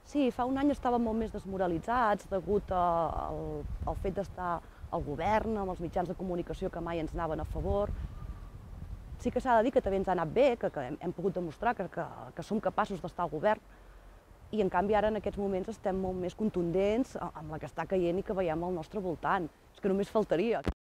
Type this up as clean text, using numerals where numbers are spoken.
Sí, fa un any estàvem molt més desmoralitzats degut al fet d'estar al govern, amb els mitjans de comunicació que mai ens anaven a favor. Sí que s'ha de dir que també ens ha anat bé, que hem pogut demostrar que som capaços d'estar al govern, i en canvi ara en aquests moments estem molt més contundents amb la que està caient i que veiem al nostre voltant. És que només faltaria.